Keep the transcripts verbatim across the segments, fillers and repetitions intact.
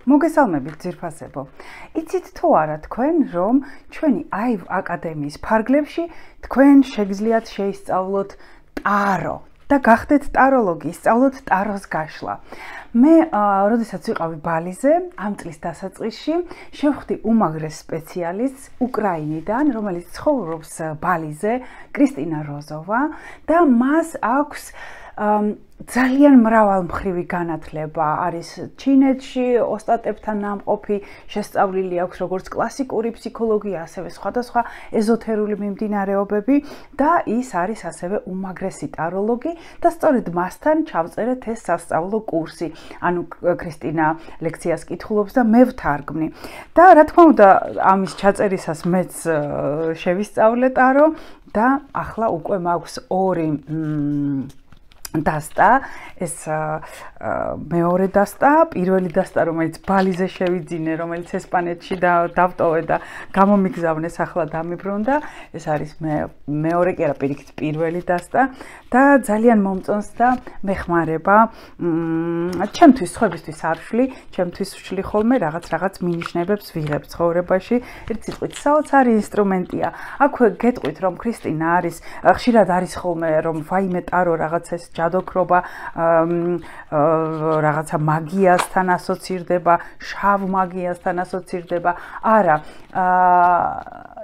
მოგესალმებით ძირფასებო. იცით თუ არა თქვენ, რომ ჩვენი აივ აკადემიის ფარგლებში თქვენ შეგიძლიათ შეისწავლოთ ტარო და გახდეთ ტაროლოგი, სწავლოთ ტაროს გაშლა. მე, როდესაც ვიყავი ბალიზე, ამ წლის დასაწყისში, შევხვდი უმაღლეს სპეციალისტს უკრაინიდან, რომელიც ცხოვრობს ბალიზე, კრისტინა როზოვა და მას აქვს ძალიან მრავალმხრივი განათლება არის ჩინეთში, ოსტატებთან ნამყოფი, შესწავლილი აქვს როგორც კლასიკური ფსიქოლოგია, ასევე სხვადასხვა ეზოთერული მიმდინარეობები და ის არის ასევე უმაღლესი ტაროლოგი და სწორედ მასთან ჩავწერეთ ეს სასწავლო კურსი. ანუ კრისტინა ლექციას კითხულობს და მე ვთარგმნი. და რა თქმა უნდა, ამის ჩაწერისას მეც შევისწავლე ტარო და ახლა უკვე მაქვს ორი დასტა, ეს მეორე დასტა, პირველი დასტა, რომელიც ბალიზე შევიძინე, რომელიც ესპანეთში დავტოვე და გამომიგზავნეს, ახლა დამიბრუნდა. ეს არის მეორე კი არა, პირიქით პირველი დასტა და ძალიან მომწონს და მეხმარება. ჩემთვის, სხვებისთვის არ ვშლი, ჩემთვის ვშლი ხოლმე რაღაც რაღაც მინიშნებებს ვიღებ ცხოვრებაში. ერთ სიტყვით, საოცარი ინსტრუმენტია. აქვე გეტყვით, რომ კრისტინა არის, ხშირად არის ხოლმე, რომ ვაიმე ტარო რაღაც ეს ჯადოქრობა რაღაცა მაგიასთან ასოცირდება, შავ მაგიასთან ასოცირდება. არა,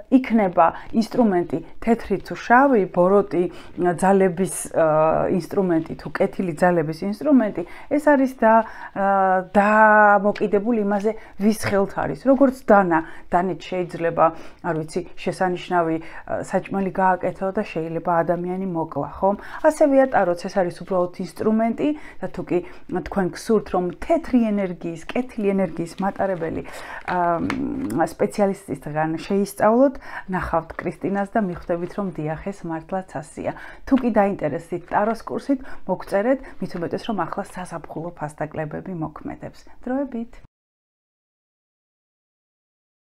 იქნება ინსტრუმენტი თეთრი თუ შავი, ბოროტი ძალების ინსტრუმენტი თუ კეთილი ძალების ინსტრუმენტი, ეს არის და დამოკიდებული იმაზე, ვის ხელთ არის. როგორც დანა, დანით შეიძლება, არ ვიცი, შესანიშნავი საჭმელი გააკეთო და შეიძლება ადამიანი მოკლა, ხომ? ასევეა ტაროც, ეს არის უბრალოდ ინსტრუმენტი და თუ კი თქვენ გსურთ, რომ თეთრი ენერგიის, კეთილი ენერგიის მატარებელი სპეციალისტისგან შეისწავლოთ, ნახავთ კრისტინას და მიხვდებით, რომ დიახ, ეს მართლაც ასეა. თუ კი დაინტერესდით ტაროს კურსით, მოგწერეთ, მით უმეტეს, რომ ახლა საზაფხულო ფასდაკლებები მოქმედებს. დროებით.